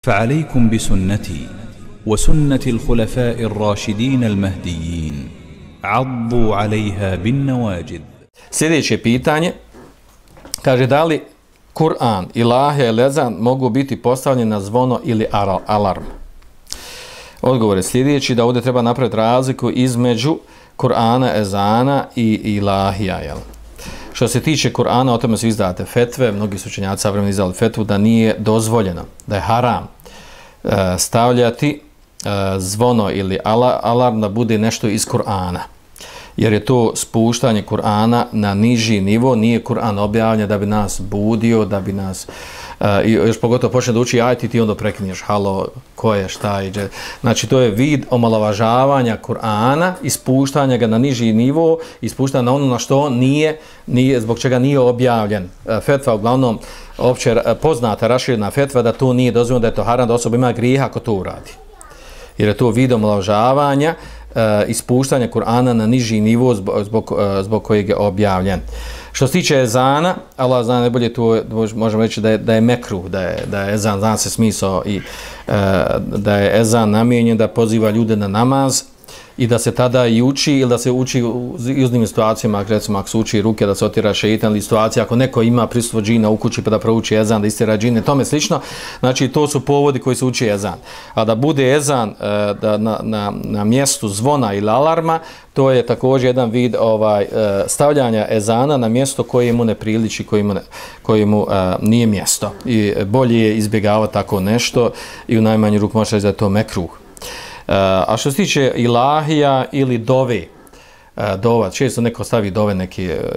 فعليكم بسنتي وسنة الخلفاء الراشدين المهديين عضوا عليها بالنواجذ. Sljedeće pitanje, kaže da li Kur'an, ilahija ili ezan mogu biti postavljeni na zvono ili alarm? Odgovor je sljedeći, da ovdje treba napraviti razliku između Kur'ana, ezana i ilahija. Jel? Što se tiče Kur'ana, o tome su izdate fetve, mnogi su učenjaci savremeni izdali fetvu da nije dozvoljeno, da je haram stavljati zvono ili alarm da bude nešto iz Kur'ana. Jer je to spuštanje Kur'ana na niži nivo, nije Kur'an objavljen da bi nas budio, da bi nas, još pogotovo počne da uči ajet i ti onda preklinješ, halo, ko je, šta je. Znači to je vid omalovažavanja Kur'ana i spuštanja ga na niži nivo i spuštanja na ono na što nije, zbog čega nije objavljen. Fetva uglavnom opće poznata, raširena fetva da to nije dozvoljeno, da je to haram, da osoba ima grijeha ako to uradi. Jer je to vid omalovažavanja ispuštanja Kur'ana na niži nivo zbog kojeg je objavljen. Što se tiče ezana, Allah zna najbolje, tu možemo reći da je mekruh, da je ezan, zna se smisao i da je ezan namijenjen da poziva ljude na namaz i da se tada i uči ili da se uči u iznimnim situacijama, recimo ako se uči ruke da se otjera šeitan ili situacija ako neko ima prisustvo džina u kući pa da prouči ezan, da istjera džine, tome slično. Znači to su povodi koji se uči ezan. A da bude ezan na mjestu zvona ili alarma, to je također jedan vid stavljanja ezana na mjesto koje mu ne priliči, koje mu nije mjesto. I bolje je izbjegavati tako nešto i u najmanju ruku može reći da je to mekruh. A što se tiče ilahija ili dova, često neko stavi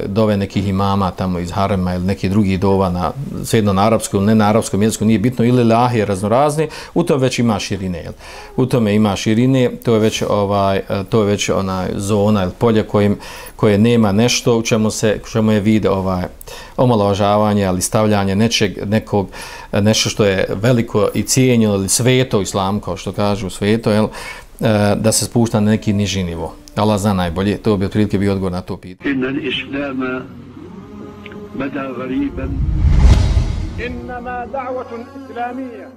dove nekih imama tamo iz harema ili nekih drugih dova, svejedno na arapskom ili ne na arapskom jeziku, nije bitno, ili ilahije raznorazni, u tome već ima širine. Jel? U tome ima širine, to je već ona zona ili polje koje nema nešto u čemu je vid omalovažavanje, ali stavljanje nešto što je veliko i cijenjeno ili sveto u islamu, kao što kažu sveto, jel? Da se spušta na neki niži nivo. Allah zna najbolje, to bi otprilike bio odgovor na to pitanje. Inna al-islama bada ghariban. Innama da'watun islamiyya